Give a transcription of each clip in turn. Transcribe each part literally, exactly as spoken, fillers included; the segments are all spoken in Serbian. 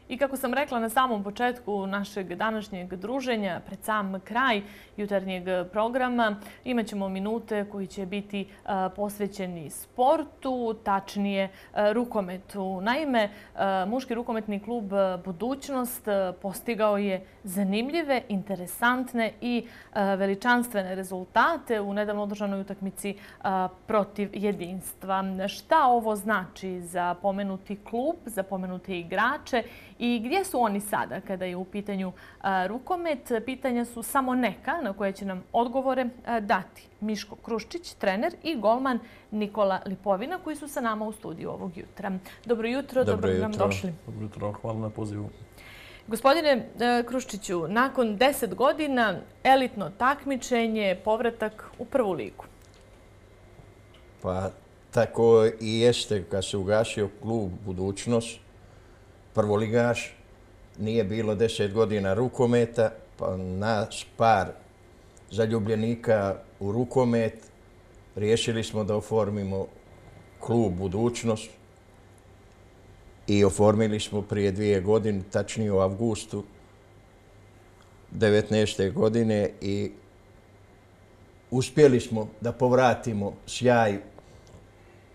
I kako sam rekla na samom početku našeg današnjeg druženja, pred sam kraj jutarnjeg programa, imat ćemo minute koji će biti posvećeni sportu, tačnije rukometu. Naime, muški rukometni klub Budućnost postigao je zanimljive, interesantne i veličanstvene rezultate u nedavno održanoj utakmici protiv Jedinstva. Šta ovo znači za pomenuti klub, za pomenute igrače i gdje su oni sada kada je u pitanju rukomet? Pitanja su samo neka na koje će nam odgovore dati Miško Kruščić, trener, i golman Nikola Lipovina, koji su sa nama u studiju ovog jutra. Dobro jutro, dobro nam došli. Dobro jutro, hvala na pozivu. Gospodine Kruščiću, nakon deset godina elitno takmičenje, povratak u prvu ligu. Pa tako i jeste kad se ugasio klub Budućnost, prvoligaš, nije bilo deset godina rukometa, pa nas par zaljubljenika u rukomet riješili smo da oformimo klub Budućnost i oformili smo prije dvije godine, tačnije u avgustu devetnaeste godine, i uspjeli smo da povratimo sjaj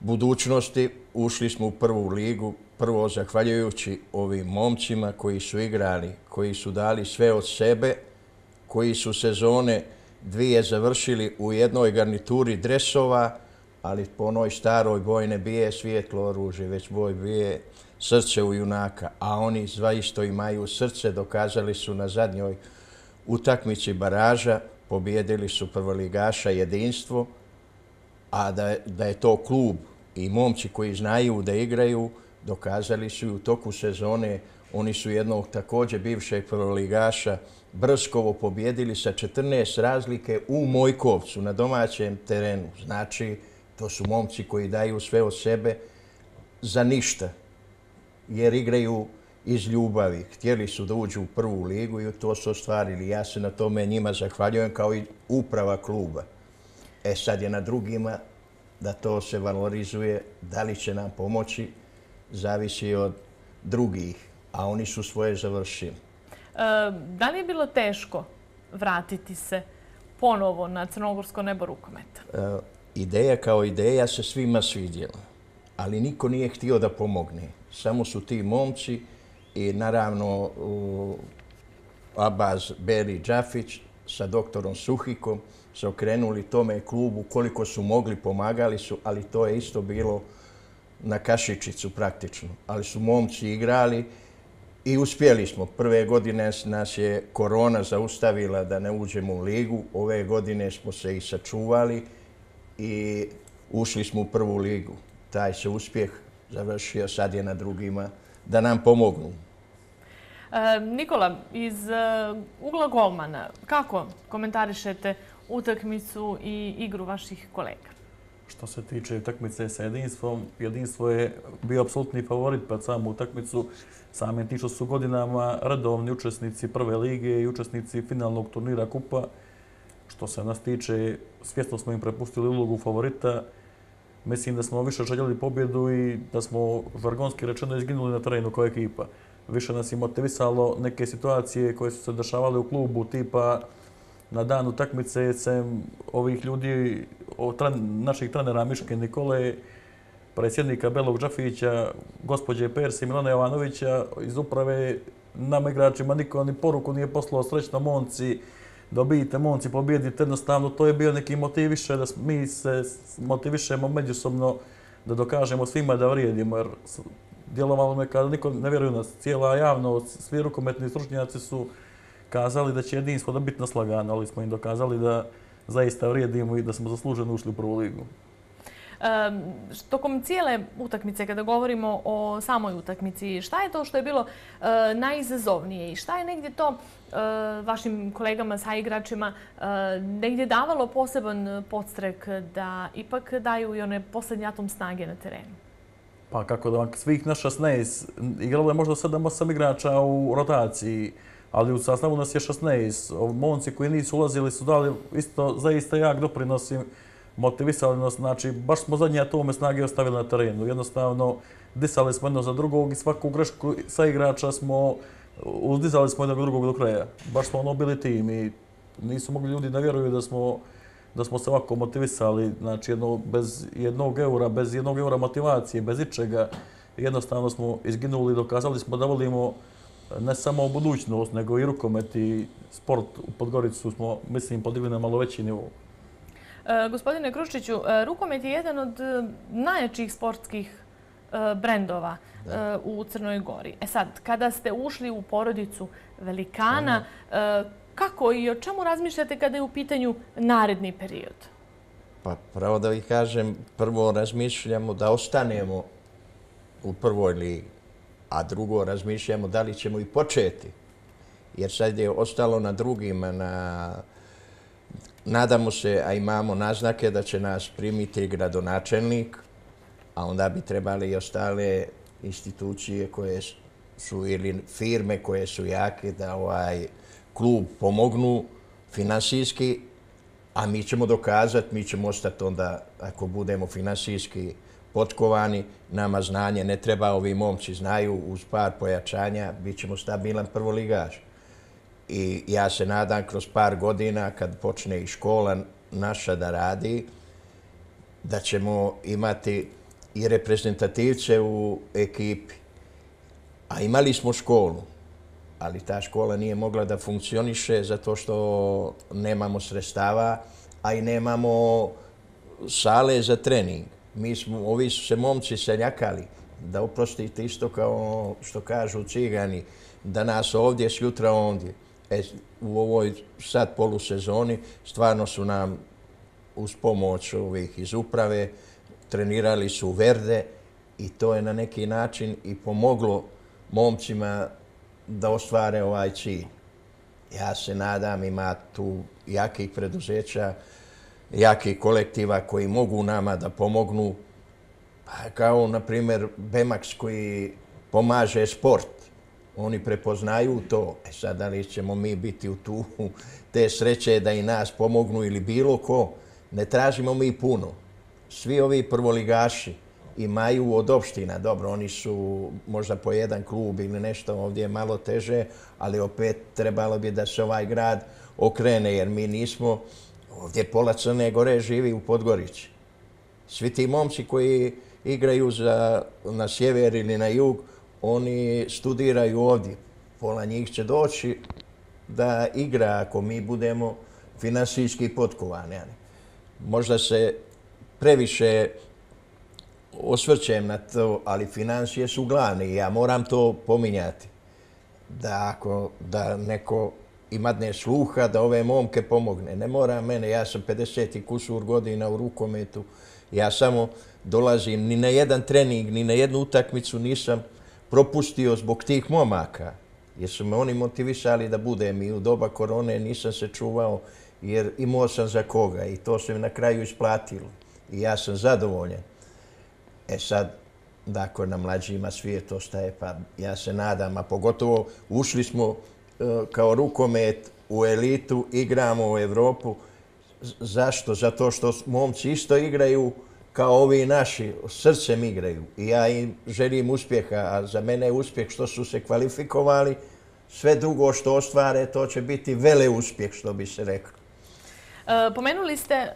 Budućnosti. Ušli smo u prvu ligu, prvo zahvaljujući ovim momcima koji su igrali, koji su dali sve od sebe, koji su sezone dvije završili u jednoj garnituri dresova, ali po onoj staroj boj ne bije svijetlo oružje, već boj bije srce u junaka. A oni zaista imaju srce, dokazali su na zadnjoj utakmici baraža, pobijedili su prvoligaša Jedinstvo, a da, da je to klub i momci koji znaju da igraju, dokazali su i u toku sezone. Oni su jednog također bivšeg prvoligaša Brskovo pobijedili sa četrnaest razlike u Mojkovcu na domaćem terenu. Znači, to su momci koji daju sve od sebe za ništa, jer igraju iz ljubavi. Htjeli su da uđu u prvu ligu i to su ostvarili. Ja se na tome njima zahvaljujem, kao i uprava kluba. E sad je na drugima da to se valorizuje. Da li će nam pomoći, zavisi od drugih, a oni su svoje završili. Da li je bilo teško vratiti se ponovo na crnogorsko nebo rukometa? Ideja kao ideja se svima svidjela, ali niko nije htio da pomogne. Samo su ti momci i naravno Abaz Beri Džafić sa doktorom Suhikom se okrenuli tome klubu, koliko su mogli, pomagali su, ali to je isto bilo na kašičicu praktično. Ali su momci igrali i uspjeli smo. Prve godine nas je korona zaustavila da ne uđemo u ligu. Ove godine smo se i sačuvali i ušli smo u prvu ligu. Taj se uspjeh završio, sad je na drugima da nam pomognu. E, Nikola, iz ugla golmana, kako komentarišete utakmicu i igru vaših kolega? Što se tiče utakmice sa Jedinstvom, Jedinstvo je bio apsolutni favorit pred samu utakmicu. Samim tim što su godinama redovni učesnici prve lige i učesnici finalnog turnira kupa. Što se nas tiče, svjesno smo im prepustili ulogu favorita. Mislim da smo više željeli pobjedu i da smo žargonski rečeno izginuli na terenu kao ekipa. Više nas je motivisalo neke situacije koje su se dešavale u klubu, tipa na dan utakmice sem ovih ljudi, naših trenera Miške Nikole, predsjednika Belog Džafića, gospođe Perse i Milana Jovanovića iz uprave, nama igračima niko ni poruku nije poslao: srećno momci, dobijite momci, pobijedite. Jednostavno, to je bio neki motiv više da mi se motivišemo međusobno, da dokažemo svima da vrijedimo, jer djelovalo me kada niko ne vjeruje u nas. Cijela javnost, svi rukometni stručnjaci su kazali da će Jedinstvo da biti naslagano, ali smo im dokazali da zaista vrijedimo i da smo zasluženo ušli u prvu ligu. Tokom cijele utakmice, kada govorimo o samoj utakmici, šta je to što je bilo najizazovnije i šta je negdje to vašim kolegama, saigračima, negdje davalo poseban podstrek da ipak daju i one posljednji atom snage na terenu? Pa kako da, svih nas šesnaest, igralo je možda sedam osam igrača u rotaciji, ali u sastavu nas je šesnaest. Momci koji nisu ulazili su dali isto zaista jak doprinos i motivisali nas. Znači, baš smo zadnji atome snage ostavili na terenu. Jednostavno, disali smo jedno za drugog i svaku grešku sa igrača smo uzdizali smo jednog drugog do kraja. Baš smo ono bili tim i nisu mogli ljudi da vjeruju da smo da smo se ovako motivisali, znači jedno, bez jednog eura, bez jednog eura motivacije, bez ičega. Jednostavno smo izginuli i dokazali smo da volimo ne samo budućnost, nego i rukomet i sport u Podgoricu smo, mislim, podigli na malo veći nivou. E, gospodine Kruščiću, rukomet je jedan od najjačih sportskih e, brendova e, u Crnoj Gori. E sad, kada ste ušli u porodicu velikana, e, kako i o čemu razmišljate kada je u pitanju naredni period? Pa pravo da vi kažem, prvo razmišljamo da ostanemo u prvoj ligi, a drugo razmišljamo da li ćemo i početi. Jer sad je ostalo na drugima, na... nadamo se, a imamo naznake da će nas primiti gradonačelnik, a onda bi trebali i ostale institucije koje su ili firme koje su jake da ovaj klub pomognu finansijski, a mi ćemo dokazati, mi ćemo ostati onda, ako budemo finansijski potkovani, nama znanje ne treba, ovi momci znaju, uz par pojačanja bit ćemo stabilan prvoligaš. I ja se nadam kroz par godina, kad počne i škola naša da radi, da ćemo imati i reprezentativce u ekipi. A imali smo školu, ali ta škola nije mogla da funkcioniše zato što nemamo sredstava, a i nemamo sale za trening. Mi smo, ovi su se momci seljakali, da oprostite isto kao što kažu Cigani, da nas ovdje, sjutra ondje. E, u ovoj sad polusezoni stvarno su nam uz pomoć ovih iz uprave trenirali su Verde i to je na neki način i pomoglo momcima da ostvare ovaj cilj. Ja se nadam, ima tu jakih preduzeća, jakih kolektiva koji mogu nama da pomognu, pa kao na primjer Bemax koji pomaže sport. Oni prepoznaju to. E sad, da li ćemo mi biti u tu te sreće da i nas pomognu ili bilo ko, ne tražimo mi puno. Svi ovi prvoligaši imaju od opština, dobro, oni su možda po jedan klub ili nešto, ovdje je malo teže, ali opet trebalo bi da se ovaj grad okrene, jer mi nismo, ovdje pola Crne Gore živi u Podgorici. Svi ti momci koji igraju za, na sjever ili na jug, oni studiraju ovdje. Pola njih će doći da igra ako mi budemo finansijski potkovani. Možda se previše osvrćem na to, ali financije su glavne i ja moram to pominjati. Da ako da neko imadne sluha da ove momke pomogne. Ne mora mene, ja sam pedeset i kusur godina u rukometu. Ja samo dolazim, ni na jedan trening, ni na jednu utakmicu nisam propustio zbog tih momaka. Jer su me oni motivisali da budem i u doba korone nisam se čuvao jer imao sam za koga i to se mi na kraju isplatilo. I ja sam zadovoljan. E sad, dakle, na mlađima svijet ostaje, pa ja se nadam, a pogotovo ušli smo uh, kao rukomet u elitu, igramo u Evropu. Zašto? Zato što momci isto igraju kao ovi naši, srcem igraju. I ja im želim uspjeha, a za mene je uspjeh što su se kvalifikovali. Sve drugo što ostvare, to će biti vele uspjeh, što bi se reklo. E, pomenuli ste e,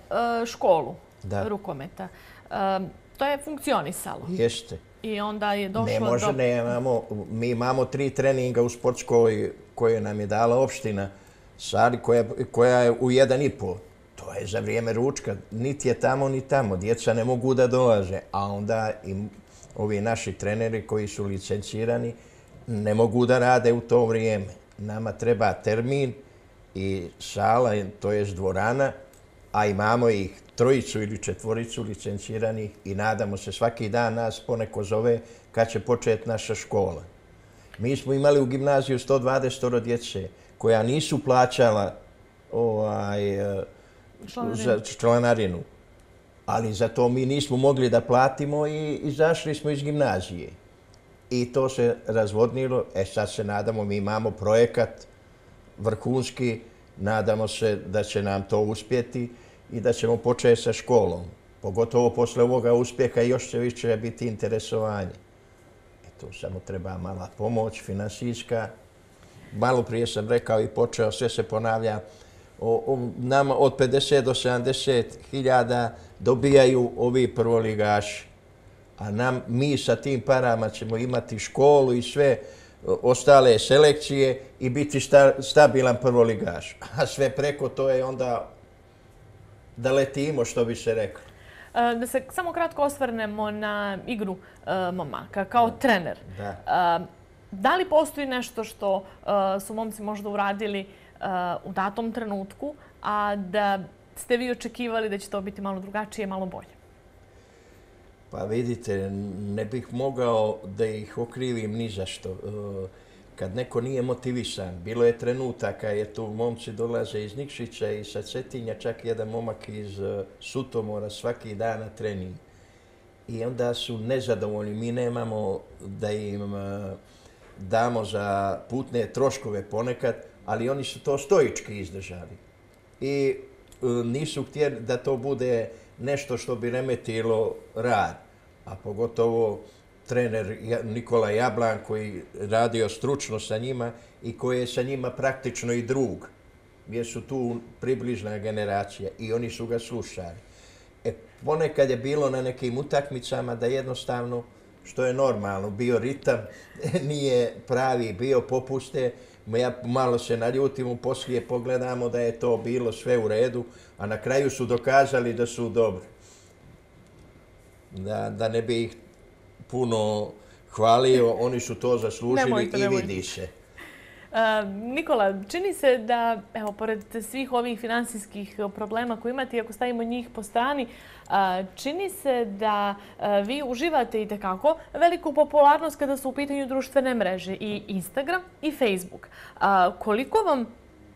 školu da. rukometa. E, to je funkcionisalo. Jeste. I onda je došlo ne može, do... Ne imamo, mi imamo tri treninga u sportskoj koje nam je dala opština Sali, koja, koja je u jedan i pol. To je za vrijeme ručka. Niti je tamo, ni tamo. Djeca ne mogu da dolaze. A onda i ovi naši treneri koji su licencirani ne mogu da rade u to vrijeme. Nama treba termin i sala, to je dvorana, a imamo ih trojicu ili četvoricu licenciranih i nadamo se svaki dan nas poneko zove kad će početi naša škola. Mi smo imali u gimnaziju sto dvadeset djece koja nisu plaćala ovaj, za članarinu, ali za to mi nismo mogli da platimo i izašli smo iz gimnazije. I to se razvodnilo. E sad se nadamo, mi imamo projekat vrhunski, nadamo se da će nam to uspjeti i da ćemo početi sa školom. Pogotovo posle ovoga uspjeha još će više biti interesovanje. to samo treba mala pomoć, finansijska. Malo prije sam rekao i počeo, sve se ponavlja, o, o, nama od pedeset do sedamdeset hiljada dobijaju ovi prvoligaši. A nam, mi sa tim parama ćemo imati školu i sve ostale selekcije i biti sta, stabilan prvoligaš. A sve preko to je onda da letimo, što bi se reklo. Da se samo kratko osvrnemo na igru momaka kao trener. Da. Da li postoji nešto što su momci možda uradili u datom trenutku, a da ste vi očekivali da će to biti malo drugačije, malo bolje? Pa vidite, ne bih mogao da ih okrivim ni za što. Kad neko nije motivisan, bilo je trenutaka, je tu momci dolaze iz Nikšića i sa Cetinja, čak jedan momak iz Sutomora svaki dan na trening. I onda su nezadovoljni. Mi nemamo da im damo za putne troškove ponekad, ali oni su to stoički izdržali. I nisu htjeli da to bude nešto što bi remetilo rad. A pogotovo trener Nikola Jablan koji radio stručno sa njima i koji je sa njima praktično i drug. Jer su tu približna generacija i oni su ga slušali. E, ponekad je bilo na nekim utakmicama da jednostavno, što je normalno, bio ritam, nije pravi, bio popuste. Ja malo se naljutim, poslije pogledamo da je to bilo sve u redu, a na kraju su dokazali da su dobri. Da, da ne bi ih puno hvalio, oni su to zaslužili nemojte, i nemojte. Vidi se. Uh, Nikola, čini se da, evo, pored svih ovih finansijskih problema koje imate, ako stavimo njih po strani, uh, čini se da uh, vi uživate i tekako veliku popularnost kada su u pitanju društvene mreže i Instagram i Facebook. Uh, koliko vam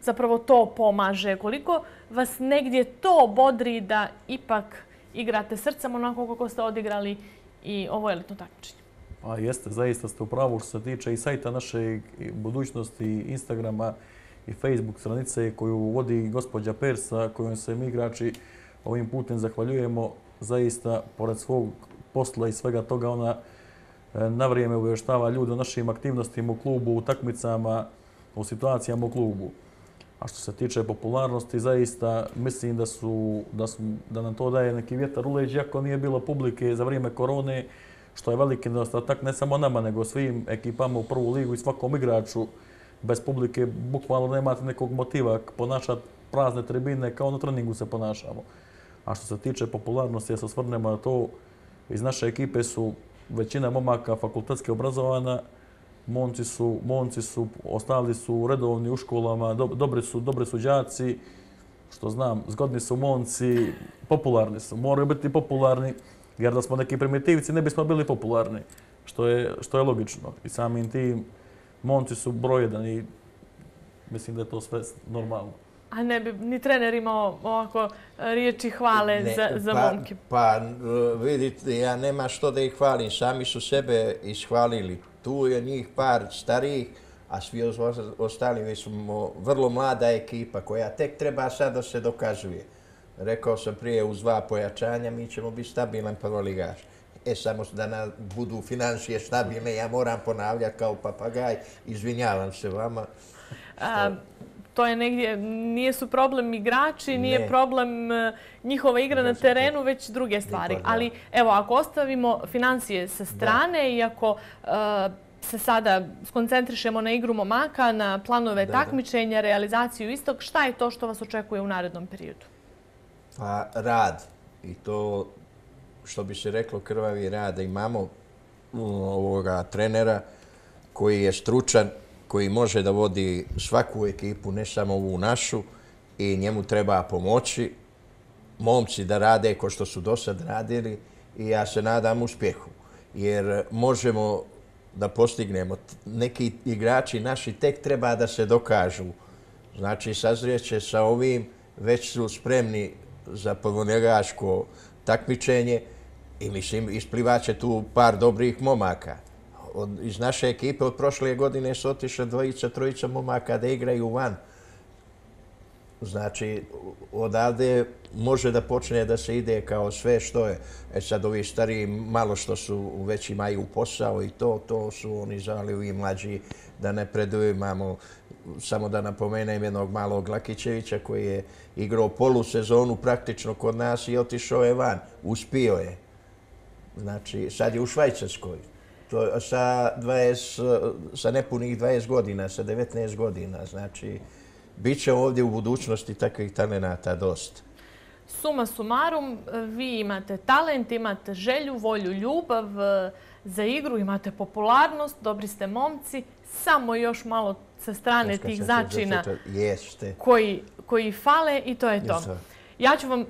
zapravo to pomaže? Koliko vas negdje to bodri da ipak igrate srcem onako kako ste odigrali i ovo elitno takmičenje? Pa jeste, zaista ste u pravu što se tiče i sajta naše budućnosti, Instagrama i Facebook stranice koju vodi gospođa Persa, kojom se mi igrači ovim putem zahvaljujemo. Zaista, pored svog posla i svega toga, ona na vrijeme obavještava ljude o našim aktivnostima u klubu, u takmicama, u situacijama u klubu. A što se tiče popularnosti, zaista mislim da, su, da, su, da nam to daje neki vjetar u leđa, iako nije bilo publike za vrijeme korone, što je veliki nedostatak ne samo nama, nego svim ekipama u prvu ligu i svakom igraču. Bez publike bukvalno nemate nekog motiva ponašati prazne tribine kao na treningu se ponašamo. A što se tiče popularnosti, ja se osvrnemo na to, iz naše ekipe su većina momaka fakultetski obrazovana, momci su, momci su, ostali su redovni u školama, do, dobri su, dobri su đaci, što znam, zgodni su momci, popularni su, moraju biti popularni. Jer da smo neki primitivci ne bismo bili popularni, što je, što je logično. I samim tim momci su broj jedan i mislim da je to sve normalno. A ne bi ni trener imao ovako riječi hvale ne, za, za pa, momke? Pa vidite, ja nema što da ih hvalim. Sami su sebe ishvalili. Tu je njih par starijih, a svi ostali mi smo vrlo mlada ekipa koja tek treba sad da se dokazuje. Rekao sam prije, uz dva pojačanja mi ćemo biti stabilan prvoligaš. E, samo da nam budu financije stabilne, ja moram ponavljati kao papagaj. Izvinjavam se vama. A, to je negdje, nije su problem igrači, nije ne. problem njihova igra na terenu, već druge stvari. Niko, ali evo, ako ostavimo financije sa strane da. i ako uh, se sada skoncentrišemo na igru momaka, na planove da, takmičenja, da. realizaciju istog, šta je to što vas očekuje u narednom periodu? Pa rad. I to, što bi se reklo, krvavi rad. Da imamo ovoga trenera koji je stručan, koji može da vodi svaku ekipu, ne samo ovu našu, i njemu treba pomoći. Momci da rade ko što su do sad radili i ja se nadam uspjehu. Jer možemo da postignemo. Neki igrači naši tek treba da se dokažu. Znači, sazrijeće sa ovim, već su spremni za prvoligaško takmičenje i mislim isplivaće tu par dobrih momaka. Od, iz naše ekipe od prošle godine su otišle dvojica, trojica momaka da igraju van. Znači, odavde može da počne da se ide kao sve što je. E sad, ovi stariji malo što su već imaju posao i to, to su oni žali i mlađi da ne preduju. Imamo, samo da napomenem, jednog malog Lakićevića koji je igrao polusezonu praktično kod nas i otišao je van. Uspio je. Znači, sad je u Švajcarskoj. To sa, dvadeset, sa nepunih dvadeset godina, sa devetnaest godina. Znači, bit će ovdje u budućnosti takvih talenata dosta. Suma sumarum, vi imate talent, imate želju, volju, ljubav za igru, imate popularnost, dobri ste momci, samo još malo sa strane tih začina koji, koji fale i to je to. Ja ću vam uh,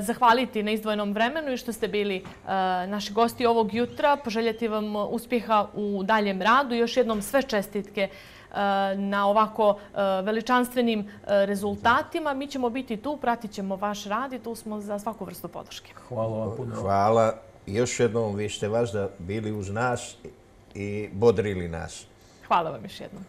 zahvaliti na izdvojenom vremenu i što ste bili uh, naši gosti ovog jutra, poželjeti vam uspjeha u daljem radu i još jednom sve čestitke uh, na ovako uh, veličanstvenim uh, rezultatima. Mi ćemo biti tu, pratit ćemo vaš rad i tu smo za svaku vrstu podrške. Hvala vam puno. Hvala. Još jednom, vi ste vas da bili uz nas i bodrili nas. Hvala vam još jednom.